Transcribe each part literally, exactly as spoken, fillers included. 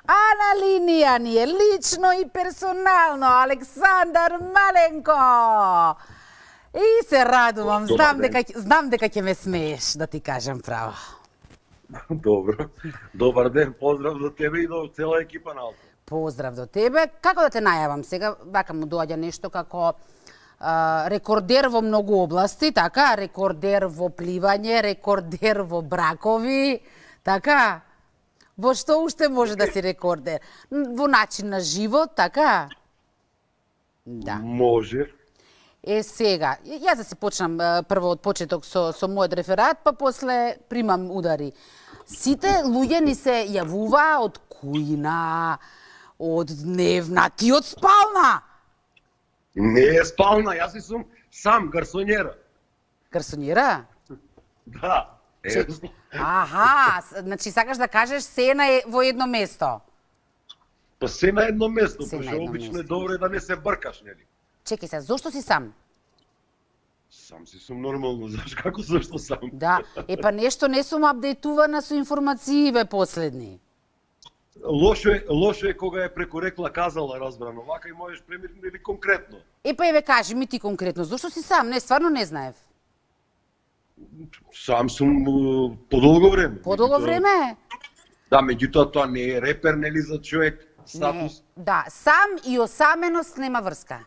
А на линија ни е лично и персонално Александар Маленко. И се радувам, знам дека знам дека ќе ме смееш, да ти кажам право. Добро. Добар ден, поздрав до тебе и до цела екипа на Алфа. Поздрав до тебе. Како да те најавам сега? Вака му доаѓа нешто како а, рекордер во многу области, така? Рекордер во пливање, рекордер во бракови, така? Во што уште може да си рекордер? Во начин на живот, така? Да. Може. Е, сега, јас да се почнам прво од почеток со, со мојот реферат, па после примам удари. Сите луѓе ни се јавува од кујна, од дневна, ти од спална. Не е спална, јас си сум сам гарсонјера. Гарсонјера? Да. Е, Аха, значи сакаш да кажеш се на во едно место. Па се на едно место, Се на пошто едно обично е место. добро да не се бркаш, нели? Чекај се, зошто си сам? Сам си сум нормално, знаеш како зашто сам? Да, е па нешто не сум апдейтувана со информацииве последни. Лошо е, лошо е кога е преку рекла казала разбрано, вака и можеш премирно или конкретно. Е па еве кажи ми ти конкретно, зошто си сам? Не, стварно не знаев. Сам сум uh, подолго време. Подолго Меѓутоа- време? Да, меѓутоа тоа не е репер, нели, за човек, статус. Не, да, сам и осаменост нема врска.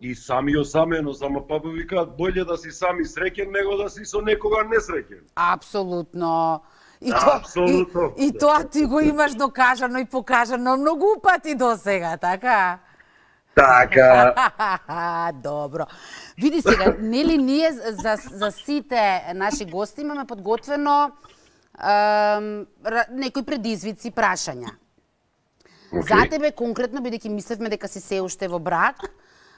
И сам и осамено, само па викаат болje да си сам и среќен него да си со некога несреќен. Апсолутно. И, Да, то, апсолутно. и, и тоа ти го имаш докажано и покажано многу пати до сега, така? Така. Добро. Види сега, нели ние за, за сите наши гости имаме подготвено ем, ра- некои предизвици, прашања. За тебе конкретно, бидејќи мислевме дека си се уште во брак,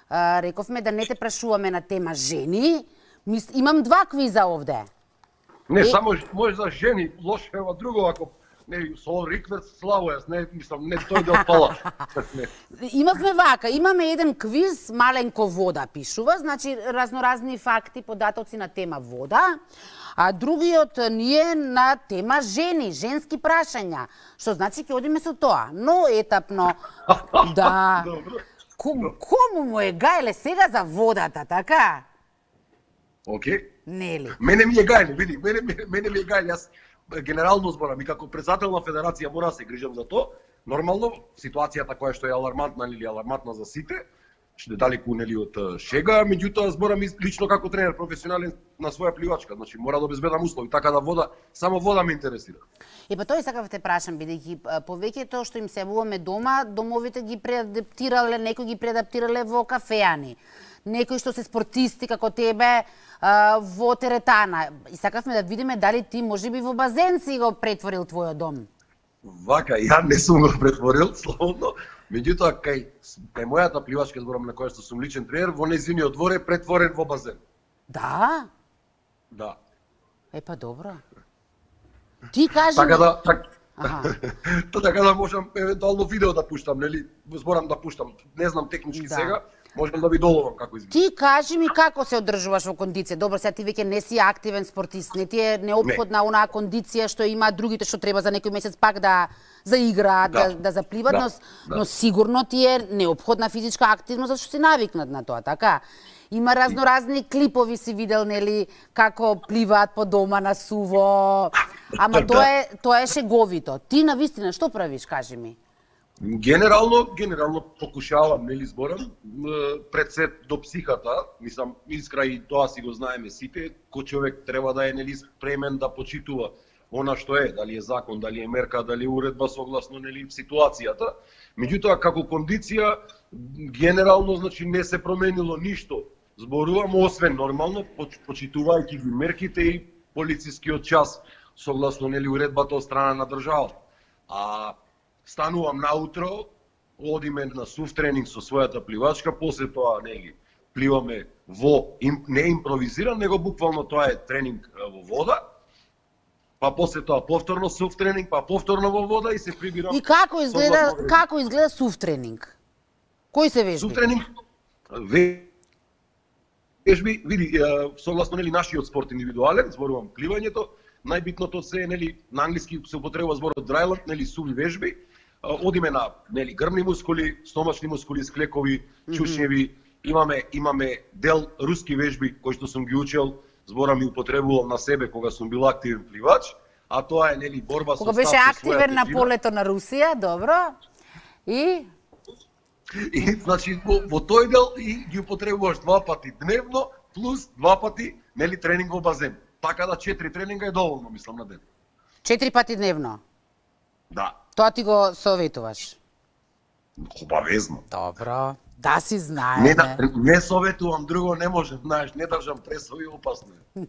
а, рековме да не те прашуваме на тема жени. Мис... Имам два квиза овде. Не, И- само ж- може за жени, лошо е ова друго, ако не, со Рикверт славо, јас не, мислам, не тој да отпала. Не. Имавме вака, имаме еден квиз, Маленко вода пишува, значи разноразни факти, податоци на тема вода, а другиот ни е на тема жени, женски прашања, што значи ќе одиме со тоа, но етапно, да. Добро. Ком, кому му е гајле сега за водата, така? Океј. Нели? Мене ми е гајле, види, мене, мене, мене ми е гајле, јас генерално зборам и како председател на федерација мора да се грижам за тоа. Нормално, ситуацијата која што е алармантна или алармантна за сите, што далеку нели од е, шега, меѓутоа зборам и лично како тренер професионален на своја пливачка, значи мора да обезбедам услови, така да вода, само вода ме интересира. И па тоа и сакав те прашам, бидејќи а, повеќето што им се јавуваме дома, домовите ги преадаптирале, некои ги преадаптирале во кафеани, некои што се спортисти како тебе а, во теретана. И сакавме да видиме дали ти можеби во базен си го претворил твојот дом. Вака, ја не сум го претворил, слободно, меѓутоа кај, кај мојата пливачка зборам на која што сум личен тренер, во нејзиниот двор е претворен во базен. Да? Да. Е па добро. Ти кажи Така ми... да, так, Аха. Тоа така да можам евентуално видео да пуштам, нели? Зборам да пуштам. Не знам технички Да. сега, можам да ви доловам како изгледа. Ти кажи ми како се одржуваш во кондиција. Добро, сега ти веќе не си активен спортист, не ти е неопходна онаа кондиција што има другите што треба за некој месец пак да заиграат, да, Да. да, да запливат, Да, но, да. но сигурно ти е неопходна физичка активност зашто си навикнат на тоа, така? Има разноразни клипови си видел, нели, како пливаат по дома на суво. Ама Да. тоа е тоа е шеговито. Ти навистина што правиш, кажи ми? Генерално, генерално покушавам, нели зборам, м, пред се до психата, мислам, искра и тоа си го знаеме сите, кој човек треба да е нели спремен да почитува она што е, дали е закон, дали е мерка, дали е уредба согласно нели ситуацијата. Меѓутоа како кондиција генерално значи не се променило ништо. Зборувам освен нормално поч- почитувајќи ги мерките и полицискиот час согласно нели уредбата од страна на државата. А станувам наутро, одиме на сув тренинг со својата пливачка, после тоа нели пливаме во им, не импровизиран, него буквално тоа е тренинг а, во вода. Па после тоа повторно сув тренинг, па повторно во вода и се прибирам. И како изгледа согласно како изгледа сув тренинг? Кои се вежби? сув тренинг вежби, види, е, согласно нели нашиот спорт индивидуален, зборувам пливањето, најбитното се е, нели, на англиски се употребува зборот dryland, нели, суви вежби. Одиме на, нели, грбни мускули, стомачни мускули, склекови, чушњеви, имаме имаме дел руски вежби кои што сум ги учел, збора ми употребувал на себе кога сум бил активен пливач, а тоа е, нели, борба кога со беше став, активен на полето на Русија, добро. И И значи во, во тој дел и ги употребуваш два пати дневно плюс два пати, нели, тренинг во базен. Така да четири тренинга е доволно, мислам, на ден. четири пати дневно. Да. Тоа ти го советуваш. Обавезно. Добро. Да си знаеме. Не, да, не советувам, друго не можем, знаеш, не држам пресови, опасно е.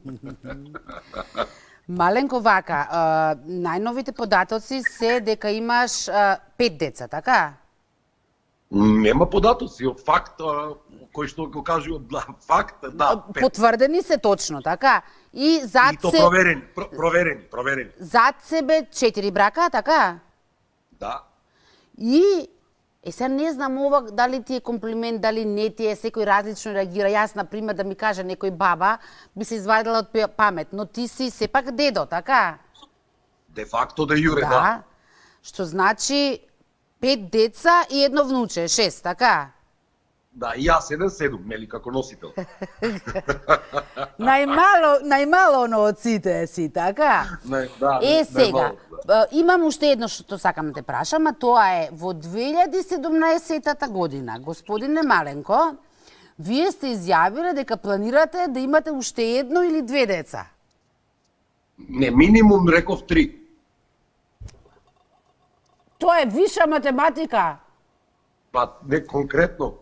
Маленко вака, а, најновите податоци се дека имаш а, пет деца, така? Нема податоци, од факт, а, кој што го кажува, да, факт, да, пет. Потврдени се точно, така? И зад И то се... проверени, про, проверени, проверени. Зад себе четири брака, така? Да. И е сега не знам ова дали ти е комплимент, дали не ти е, секој различно реагира. Јас, например, да ми каже некој баба, би се извадила од памет, но ти си сепак дедо, така? Де факто де јуре, да. Да. Што значи пет деца и едно внуче, шест, така? Да, и јас еден седум, нели, како носител. Најмало, најмало оно од сите си, така? Не, да, Е, не, сега, најмало, да. имам уште едно што сакам да те прашам, а тоа е во две илјади и седумнаесета година, господине Маленко, вие сте изјавиле дека планирате да имате уште едно или две деца. Не, минимум реков три. Тоа е виша математика. Па, не конкретно.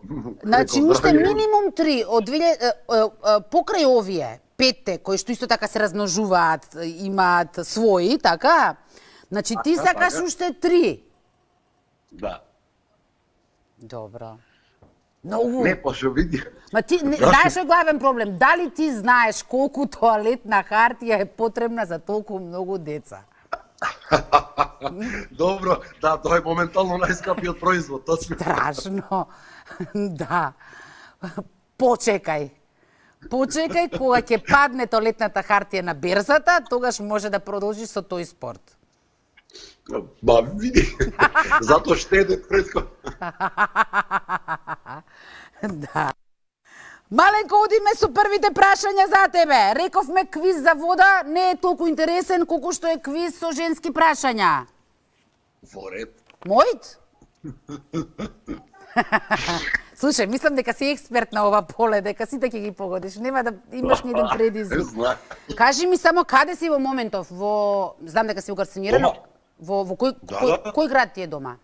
Значи, Реков, уште драги, минимум три од две илјади е, е, е, покрај овие петте кои што исто така се размножуваат, имаат своји, така? Значи ти Така, сакаш така. уште три. Да. Добро. Многу. Не, па шо види. Ма ти не, знаеш кој е главен проблем? Дали ти знаеш колку тоалетна хартија е потребна за толку многу деца? Добро, да, тоа е моментално најскапиот производ, точно. Страшно. Да. Почекај. Почекај кога ќе падне тоалетната хартија на берзата, тогаш може да продолжиш со тој спорт. Ба, види. Зато штеде предко. Да. Маленко, одиме со првите прашања за тебе. Рековме квиз за вода не е толку интересен колку што е квиз со женски прашања. Во ред. Мојт? Слушај, мислам дека си експерт на ова поле, дека сите ќе ги погодиш. Нема да имаш ни еден предизвик. Знам. Кажи ми само каде си во моментов? Во знам дека си во Гарсинирано. Дома. Во во кој Да, кој, да. кој град ти е дома?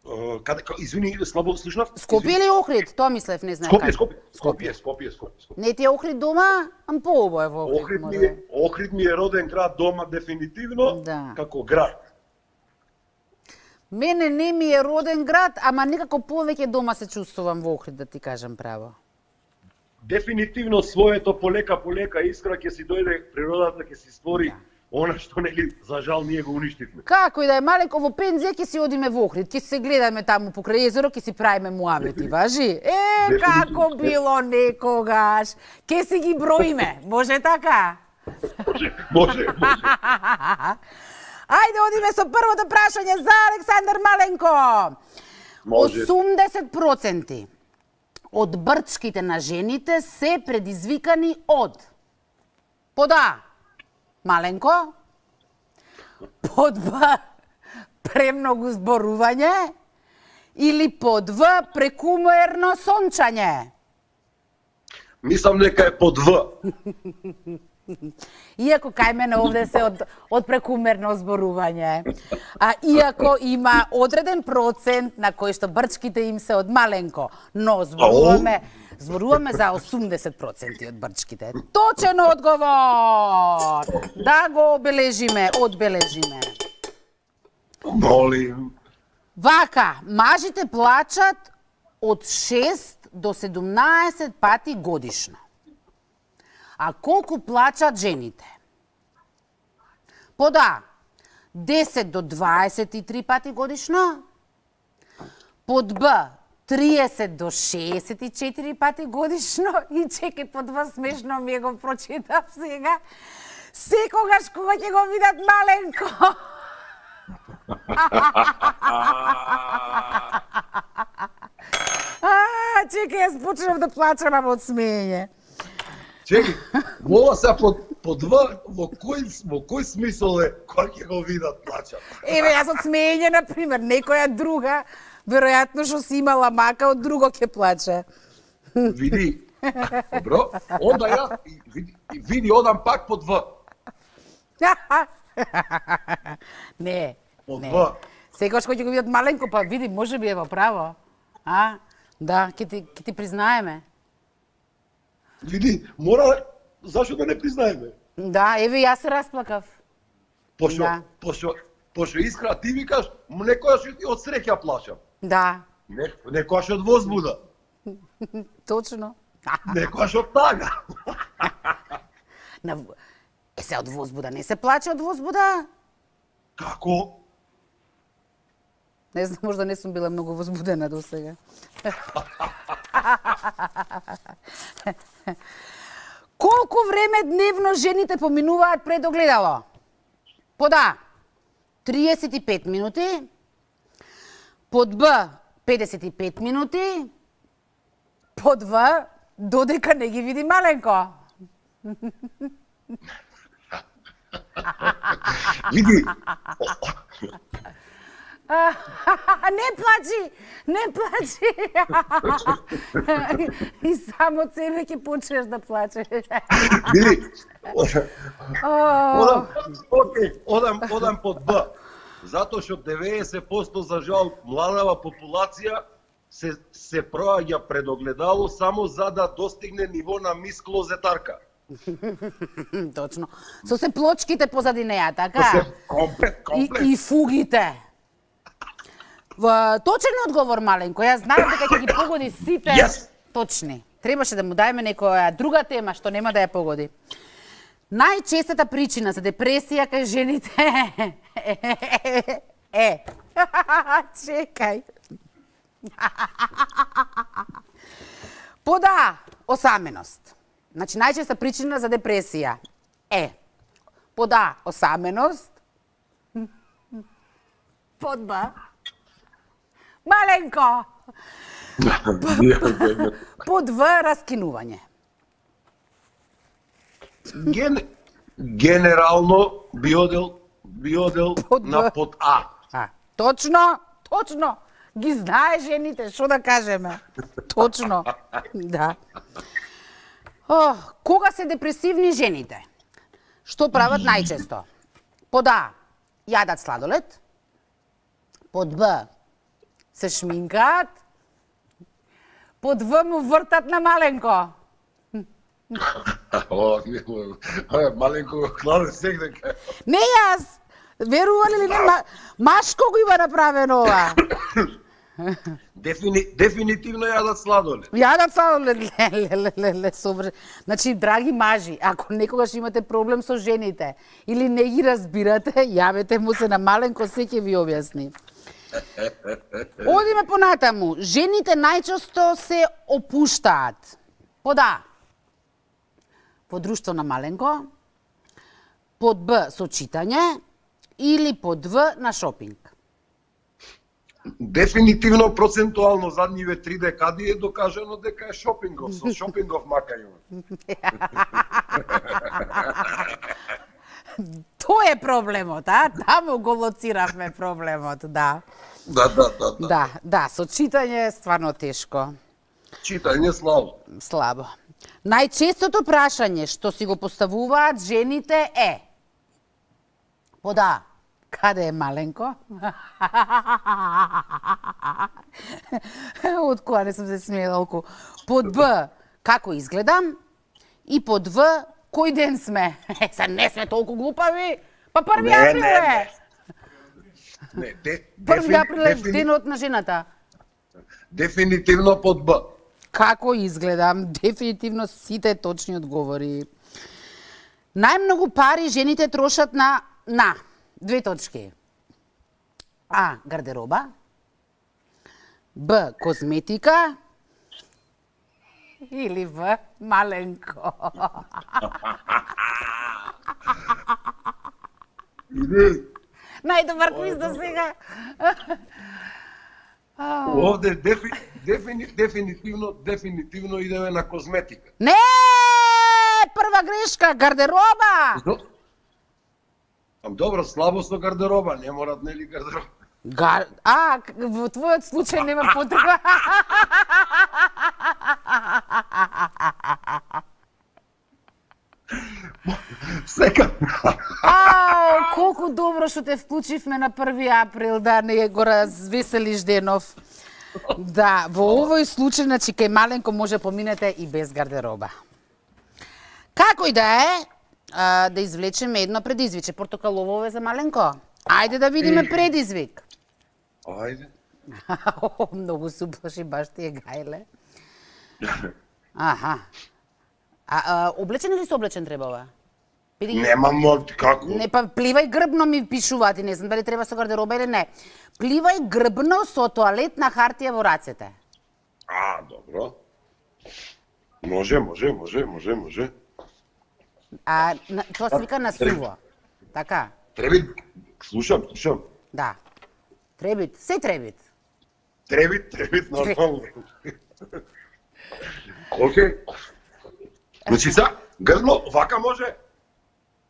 Uh, каде, ка- извини, слабо слушнав? Скопје или Охрид? Тоа мислев, не знам Скопје, каде. Скопје, Скопје, Скопје, Скопје, Скопје. Не ти е Охрид дома, ам поубаво е во Охрид. Охрид ми може. е, Охрид ми е роден град дома дефинитивно, Да. како град. Мене не ми е роден град, ама некако повеќе дома се чувствувам во Охрид, да ти кажам право. Дефинитивно своето полека полека искра ќе си дојде, природата ќе си створи Да. она што нели за жал ние го уништивме. Како и да е маленко, во пензија ќе си одиме во Охрид, ќе се гледаме таму покрај езеро, ќе си правиме муабети, важи? Е, како било некогаш. Ќе си ги броиме, може така? Може, може, може. Ајде, одиме со првото прашање за Александар Маленко. Може. осумдесет проценти од брчките на жените се предизвикани од под А. Маленко, под Б. Премногу зборување или под В. Прекумерно сончање. Мислам дека е под В. Иако кај мене овде се од, од прекумерно зборување. А иако има одреден процент на кој што брчките им се од маленко, но зборуваме зборуваме за осумдесет проценти од брчките. Точен одговор. Да го обележиме, одбележиме. Молим. Вака, мажите плачат од шест до седумнаесет пати годишно. А колку плачат жените? Под А, десет до дваесет и три пати годишно. Под Б, триесет до шеесет и четири пати годишно. И чекај, под Б смешно ми е го прочитав сега. Секогаш кога ќе го видат маленко. А, чекај, јас почнав да плачам од смење. Чекај, мова се по, по два, во кој, во кој смисол е кога ќе го видат плачат? Еве, јас од смење, например, некоја друга, веројатно што си имала мака, од друго ќе плаче. Види, добро, онда ја, види, види, одам пак по два. Не, По не. два. Секогаш кој ќе го видат маленко, па види, може би е во право. А? Да, ќе ти, ќе ти признаеме. Види, мора, зашо да не признаеме? Да, еве јас се расплакав. Пошто, Да. пошто, пошто Искра, ти викаш, некојаш и од среќа плачам. Да, Не, некојаш од возбуда. точно. Некојаш од тага. На... Е, се од возбуда, не се плаче од возбуда? Како? Не знам, можда не сум била многу возбудена до сега. Колку време дневно жените поминуваат пред огледало? Под А, триесет и пет минути. Под Б, педесет и пет минути. Под В, додека не ги види маленко. Види, Не плачи, не плачи. И само од себе ќе почнеш да плачеш. види. О, Одам, окей, одам, одам под Б. Затоа што деветдесет проценти за жал младава популација се се проаѓа пред огледало само за да достигне ниво на мис клозетарка. Точно. Со се плочките позади неа, така? Се комплет, И, комплет. и фугите. Во точен одговор, маленко. Јас знаам дека ќе ги погоди сите Yes. точни. Требаше да му даеме некоја друга тема што нема да ја погоди. Најчестата причина за депресија кај жените е чекај. Под А, осаменост. Значи, најчеста причина за депресија е под А, осаменост. Под Б, маленко. Под В, раскинување. Ген, генерално би одел, би одел Под на Б. под А. А, точно, точно. Ги знае жените, што да кажеме. Точно. Да. О, кога се депресивни жените? Што прават најчесто? Под А, јадат сладолед. Под Б, се шминкаат. Под В му вртат на маленко. О, не, о, маленко го кладе сегде. Не јас. Верували ли не, ма, машко го има направено ова. Дефини, дефинитивно јадат сладолед. Јадат сладолед, ле, ле, ле, ле, ле, собр... Значи, драги мажи, ако некогаш имате проблем со жените или не ги разбирате, јавете му се на маленко, се ќе ви објасни. Одиме понатаму. Жените најчесто се опуштаат. Под А, по друштво на маленко, под Б, со читање, или под В, на шопинг. Дефинитивно процентуално задниве три декади е докажано дека е шопингов, со шопингов мака има. Тој е проблемот, а? Таму го лоциравме проблемот, да. Да, да, да, да. Да, да, со читање е стварно тешко, Читање слабо. слабо. Најчестото прашање што си го поставуваат жените е: под А, каде е маленко? Од која не сум се смеела толку. Под Б, како изгледам? И под В, кој ден сме? Е, са не сме толку глупави. Па први Не, април не, е. не. Не, де, Први дефини- април е дефини- денот на жената. Дефинитивно под Б. Како изгледам? Дефинитивно сите точни одговори. Најмногу пари жените трошат на на две точки. А, гардероба. Б, козметика. Или В, маленко. Најдобар квиз до сега. Овде дефи, дефини, дефинитивно, дефинитивно идеме на козметика. Не! Прва грешка, гардероба. Зо? Ам добро, слабост со гардероба, не морат нели гардероба. Гар... А, во твојот случај нема потреба. Сека. Ау, колку добро што те вклучивме на први април, да не го развеселиш денов. Да, во овој случај, значи, кај Маленко може поминете и без гардероба. Како и да е, а, да извлечеме едно предизвиче. Портокалово е за Маленко. Ајде да видиме предизвик. Ајде. Многу се уплаши, баш ти е гајле. Аха. А, а облечен или се облечен треба ова? Биди... Нема мод, како? Не, па пливај грбно ми пишуваат и не знам дали треба со гардероба или не. Пливај грбно со тоалетна хартија во рацете. А, добро. Може, може, може, може, може. А на, тоа се вика на суво. Така? Требит, слушам, слушам. Да. Требит, се требит. Требит, требит, нормално. Океј. Значи са, грбно, вака може?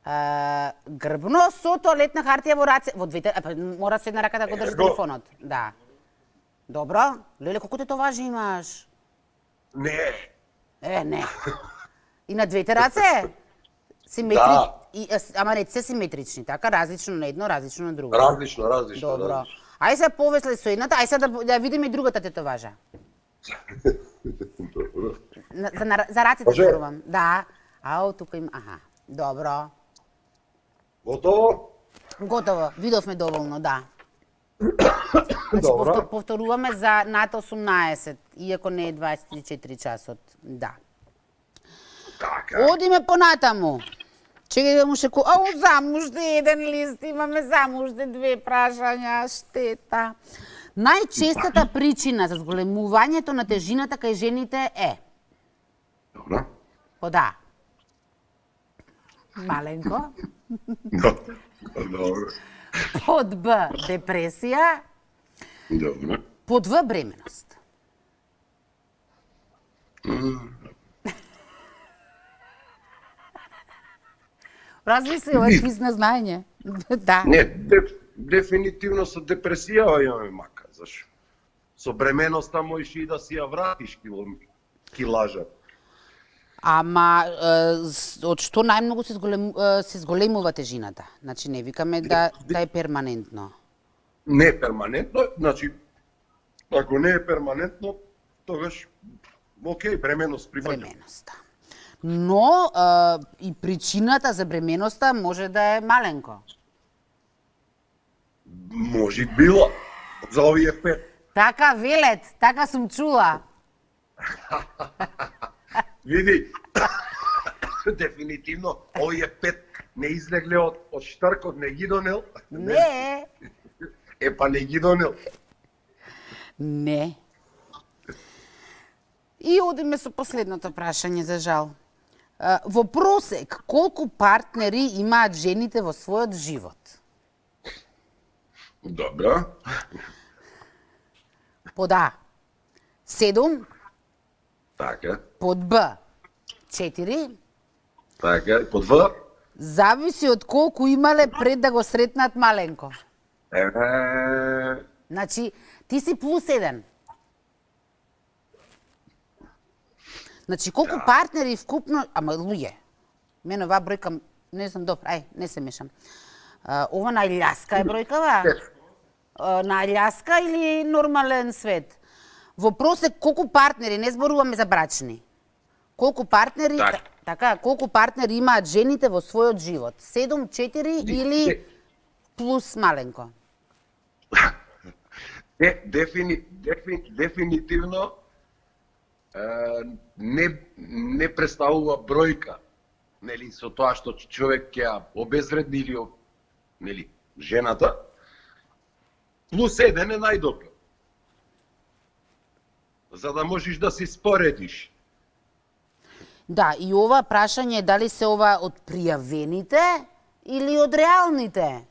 А, грбно со тоалетна хартија во раце, во двете, а, мора се една рака да го држи телефонот. Да. Добро. Леле, колку те тоа важи имаш? Не. Е, не. И на двете раце? Симетри... Да. И, ама не се симетрични, така? Различно на едно, различно на друго. Различно, различно. Добро. Различно. Ај се повесле со едната, ај се да, да видиме и другата тетоважа. Добро. На, за, на, за раците зборувам. Да. Ау, тука има... Аха. Добро. Готово? Готово. Видовме доволно, да. Значи, повтор, повторуваме за над осумнаесет, иако не е дваесет и четири часот. Да. Така. Одиме понатаму. Чекај да му шеку... Ау, само уште еден лист, имаме само уште две прашања, штета. Најчестата причина за зголемувањето на тежината кај жените е... Добро. Под А. Маленко. Добро. Под Б. Депресија. Добро. Под В. Бременост. Размисли, ова е квиз на знаење. Да. Не, деф, дефинитивно со депресија имаме мака, зашо? Со бременоста можеш и да си ја вратиш кило, килажа. Ама, е, од што најмногу се, зголем, е, се зголемува тежината? Значи, не викаме да, да е перманентно. Не е перманентно, значи, ако не е перманентно, тогаш, окей, бременост прифаќам. Бременоста. Но е, и причината за бременоста може да е Маленко. Може било, за овие пет. Така велет, така сум чула. Види, дефинитивно, овие пет не излегле од, од штаркот, не ги донел. Не. Е, па не ги донел. Не. И одиме со последното прашање, за жал. Во просек, колку партнери имаат жените во својот живот? Добро. Под А. Седум. Така. Под Б. Четири. Така, под В. Зависи од колку имале пред да го сретнат Маленко. Е... Значи, ти си плюс еден. Значи, колку да. партнери вкупно... Ама, луѓе, мене оваа бројка, не знам, добро, ај, не се мешам. А, ова на Аљаска е бројкава? А, на Аљаска или нормален свет? Во просек, колку партнери, не зборуваме за брачни, колку партнери, так. така, колку партнери имаат жените во својот живот? седум, четири или плюс Маленко? Не, дефини, дефини, дефинитивно е, не, не представува бројка, нели, со тоа што човек ќе ја обезвредни или, нели, жената, плюс еден е најдобро. За да можеш да си споредиш. Да, и ова прашање е дали се ова од пријавените или од реалните?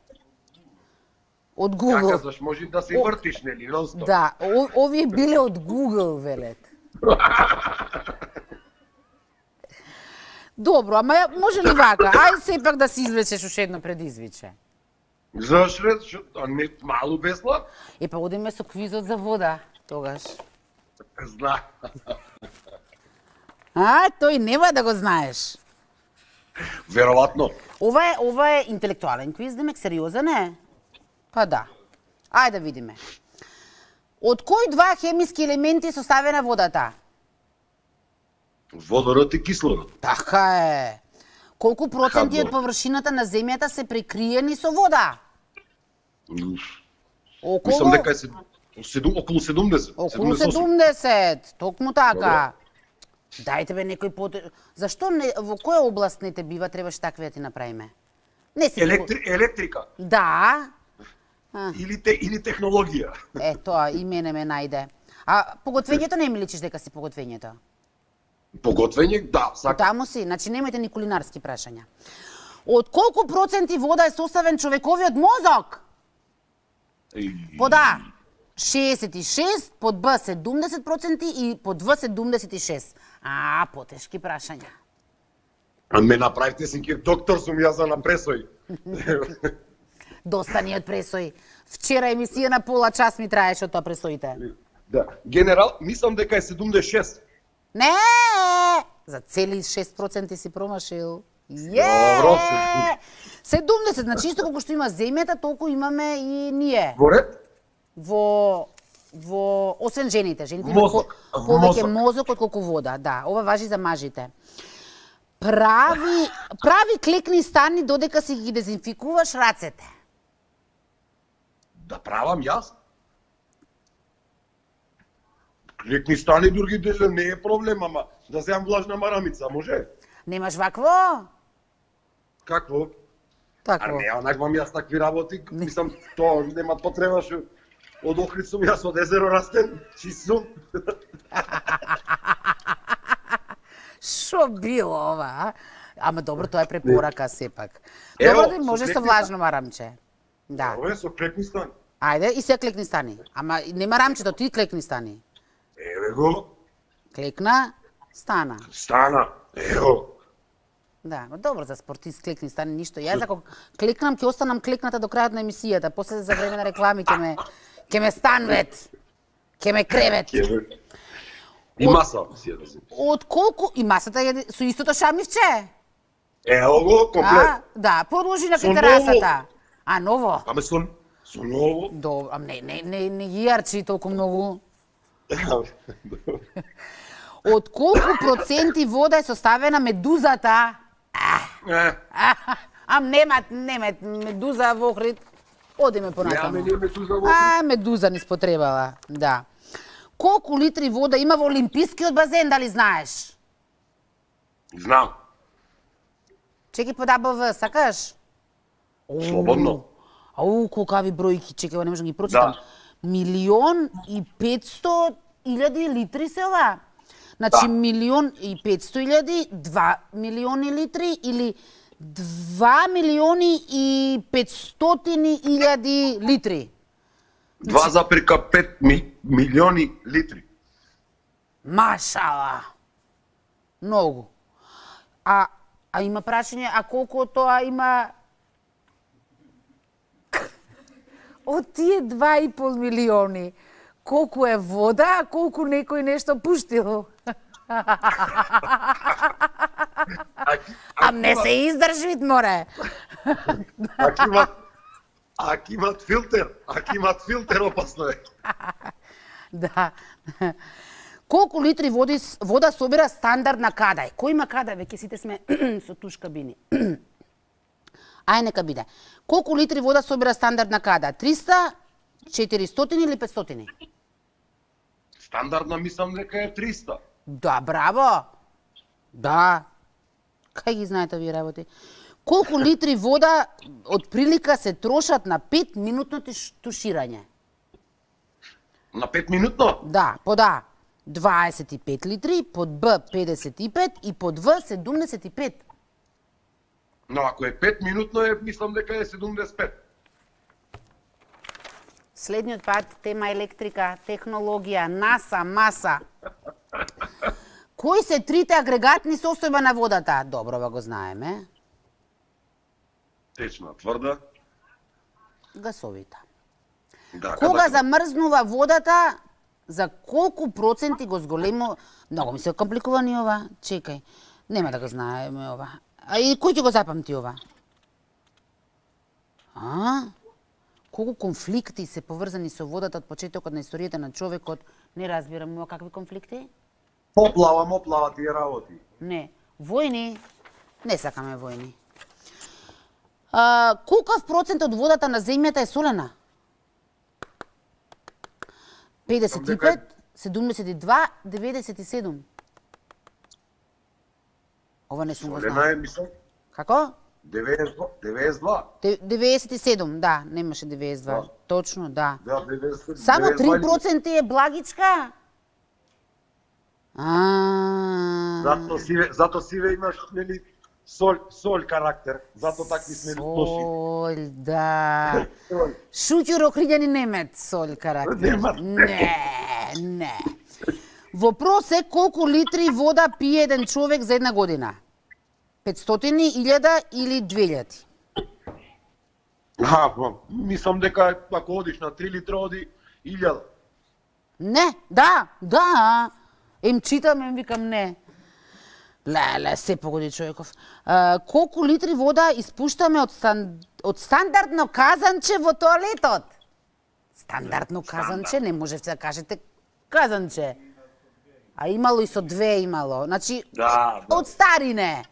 Од Google. Како кажеш, може да се вртиш, нели, нон-стоп. Да, о, овие биле од Google, велет. Добро, ама може ли вака? Ај сепак да си извлечеш уште едно предизвиче. Зашто? А не малу бесла? Е, па одиме со квизот за вода, тогаш. Зна. А, тој нема да го знаеш. Веројатно. Ова е, ова е интелектуален квиз, демек сериозен е? Па да. Ајде да видиме. Од кои два хемиски елементи е составена водата? Водород и кислород. Така е. Колку проценти од површината на земјата се прекриени со вода? Околу... Мислам дека е седум, околу седумдесет. Околу седумдесет, токму така. Дајте бе некој по... Зашто не, во која област не те бива, требаш такви да ти направиме? Не си Електри... Електрика. Да. А. Или, те... или технологија. Е, тоа и мене ме најде. А поготвењето не ми личиш дека си поготвењето? Поготвење, да, сакам. Таму си, значи немајте ни кулинарски прашања. Од колку проценти вода е составен човековиот мозок? Под А шеесет и шест, под Б седумдесет проценти и под В седумдесет и шест. А, потешки прашања. А ме направите си ке доктор сум јас за напресој. Доста ни од пресој. Вчера емисија на пола час ми траеше од тоа пресоите. Да, генерал, мислам дека е седумдесет и шест. Не! За цели шест проценти си промашил. Добро. седумдесет, значи исто колку што има земјата, толку имаме и ние. Во ред? Во во освен жените, жените Мозок. имаат по- повеќе Мозок. мозок отколку вода, да, ова важи за мажите. Прави прави клекни стани додека си ги дезинфикуваш рацете. Да правам јас? Клекни стани други дели не е проблем, ама да земам влажна марамица, може? Немаш вакво? Какво? А Такво. не, онаквам јас такви работи, мислам, тоа нема потреба што од Охрид сум јас од езеро растен, чист сум. Шо било ова, а? Ама добро, тоа е препорака сепак. Ево, Добро, да може со со клекни влажно марамче. Да. Ова е со клекни стани. Ајде, и се клекни стани. Ама нема рамчето, ти клекни стани. Еве го, Клекна, стана. стана, ево. Да, ма добро за спортист клекни стани ништо. Јас ако клекнам ќе останам клекната до крајот на емисијата, после за време на реклами ќе ме ќе ме станвет. Ќе ме кревет. И маса си ја да си. Од колку и масата е со истото шамивче? Ево го, комплет. А, да, продолжи на Со ново. терасата. А ново? Аме со, со ново. Добро, а не не не не ги јарчи толку многу. Од колку проценти вода е составена медузата? Е, Ам нема, нема медуза во Охрид. Одиме Неаме понатаму. ние медуза во А, медуза ни спотребала, да. Колку литри вода има во Олимпискиот базен, дали знаеш? Знам. Чеки по ДБВ, сакаш? Слободно. Ау, колкави бројки, чекай, ова не можам ги прочитам. Да. Милион и петсто илјади литри се ова. Значи, Да. милион и петсто илјади, два милиони литри или два милиони и петстотини илјади литри. два запирка пет ми, милиони литри. Машала. Многу. А, а има прашање, а колку од тоа има од тие два и пол милиони, колку е вода, а колку некој нешто пуштил? А не се издржвит, море. Ако имат, ако имат филтер, ако имат филтер, опасно е. Да. Колку литри води, вода собира стандардна кадај? Кој има кадај, веќе сите сме со туш кабини. Ај, нека биде. Колку литри вода собира стандардна када? триста, четиристотини или петстотини? Стандардна мислам дека е триста. Да, браво! Да. Кај ги знаете овие работи? Колку литри вода од прилика се трошат на пет минутно туш- туширање? На пет минутно? Да, под А дваесет и пет литри, под Б педесет и пет и под В седумдесет и пет. Но ако е пет минутно е, мислам дека е седумдесет и пет. Следниот пат тема електрика, технологија, НАСА, МАСА. Кои се трите агрегатни состојба на водата? Добро, го знаеме. Течна, тврда. Гасовита. Да, Кога када... замрзнува водата, за колку проценти го зголемо... Многу ми се компликувани ова. Чекај. Нема да го знаеме ова. А и кој ќе го запамти ова? А? Колку конфликти се поврзани со водата од почетокот на историјата на човекот? Не разбирам ова какви конфликти? Поплава, моплава тие работи. Не. Војни? Не сакаме војни. А, колкав процент од водата на земјата е солена? педесет и пет, седумдесет и два, деветдесет и седум. Ова не сум го знал. Солена е, мислам. Како? деветдесет и два. деветдесет и седум, да, немаше деветдесет и два. Да. Точно, да. Да, деветдесет, Само деветдесет и два. три проценти е благичка? А. Зато сиве, зато сиве имаш, нели, соль, соль карактер. Зато такви сме лоши. Соль, да. Соль. Шуќур Охриѓани немет соль карактер. Немат. Не, не. Вопрос е колку литри вода пие еден човек за една година? петстотини, илјада или две илјади? А, па, мислам дека ако одиш на три литра, оди илјада. Не, да, да. Ем читам, ем викам не. Леле, се погоди човеков. А, колку литри вода испуштаме од, стан... од стандардно казанче во тоалетот? Стандардно казанче, не можете да кажете казанче. А имало и со две имало. Значи, Да, да. од старине.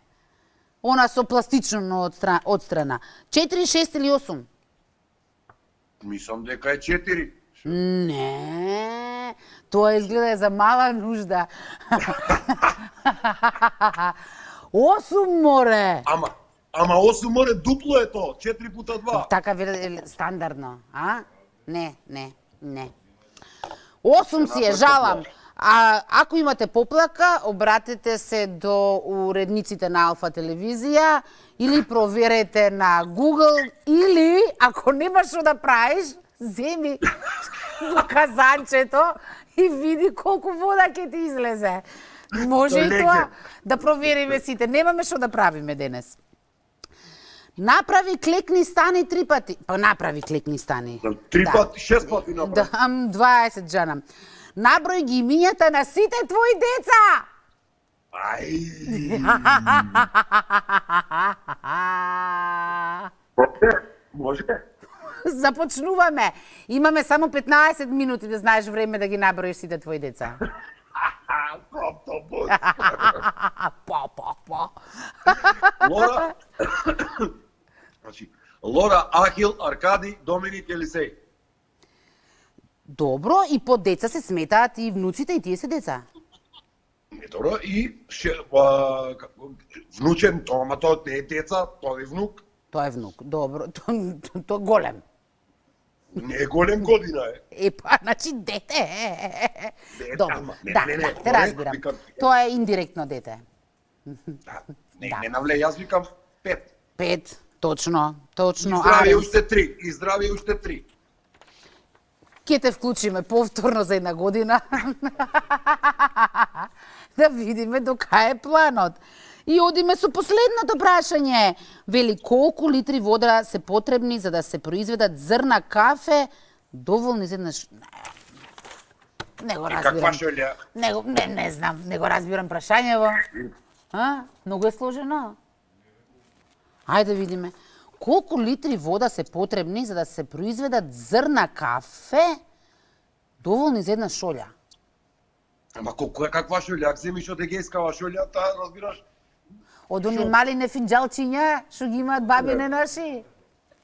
Она со пластично одстрана. одстрана. четири, шест или осум? Мислам дека е четири. Не, тоа изгледа е за мала нужда. осум море. Ама, ама осум море дупло е тоа, четири пута два. Така вели стандардно, а? Не, не, не. осум си е, жалам. А ако имате поплака, обратете се до уредниците на Алфа телевизија или проверете на Google или ако немаш што да правиш, земи во казанчето и види колку вода ќе ти излезе. Може и тоа да провериме сите. Немаме што да правиме денес. Направи клекни стани три пати. Па направи клекни стани. Три Да. пати, шест пати направи. Да, дваесет джанам. Наброј ги имињата на сите твои деца. Ај. Може? Започнуваме. Имаме само петнаесет минути да знаеш време да ги наброиш сите твои деца. Автобус. Па, па, па. Лора. Значи, Лора, Ахил, Аркади, Доминик, Елисеј. Добро, и под деца се сметаат и внуците, и тие се деца. Не добро, и ше, а, внучен, тоа, ама тоа не е деца, тоа е внук. Тоа е внук. Добро, тоа то, то голем. Не е голем година, е. Е, па, значи дете. Дете, Добро, ама, не, да, не, не, да, те тоа е, разбирам. викам, Тоа е индиректно дете. Да, не, Да. не навле, јас викам пет. Пет, точно, точно. И здравје Аренс. уште три, и здравје уште три. Ке те вклучиме повторно за една година. Да видиме до кај е планот. И одиме со последното прашање. Вели, колку литри вода се потребни за да се произведат зрна кафе доволни за еднаш... Не, не го И разбирам. каква шолја? Не, го- не, не знам, не го разбирам прашањево. А? Многу е сложено. Ајде да видиме. Колку литри вода се потребни за да се произведат зрна кафе доволни за една шолја? Ама колку е каква шолја? Ако земиш од егејскава шолја, таа разбираш? Од они мали нефинџалчиња што ги имаат бабине наши?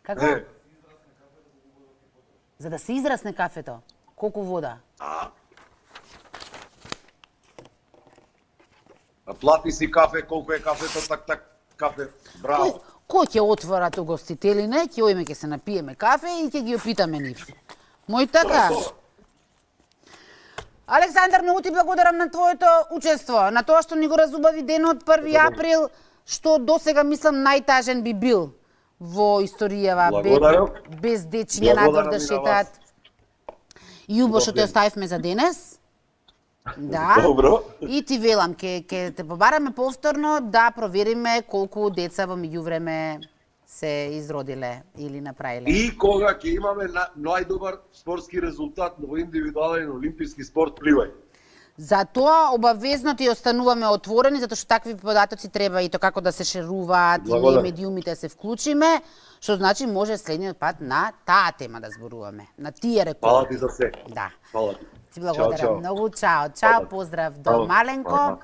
Како? Е, За да се израсне кафето, колку вода? а. А плати си кафе, колку е кафето, так, так, кафе. Кој, Браво. кој ќе отвора ту гостителине, ќе оиме ќе се напиеме кафе и ќе ги опитаме нив. Мој така. Александар, многу ти благодарам на твоето учество, на тоа што ни го разубави денот први април, што досега мислам најтажен би бил во историјава, без, Благодарам. без дечиња надвор Благодарам да и на шетаат. Јубо, што те оставивме за денес. Да. Добро. И ти велам, ке, ке те побараме повторно да провериме колку деца во меѓувреме се изродиле или направиле. И кога ќе имаме на, најдобар спортски резултат во индивидуален олимписки спорт, пливај. Затоа обавезно ти остануваме отворени, затоа што такви податоци треба и то како да се шеруваат, и ние медиумите се вклучиме, што значи може следниот пат на таа тема да зборуваме, на тие рекорди. Фала ти за се. Да. Фала ти. Ти благодарам чао, чао. многу. Чао, чао, поздрав до Маленко.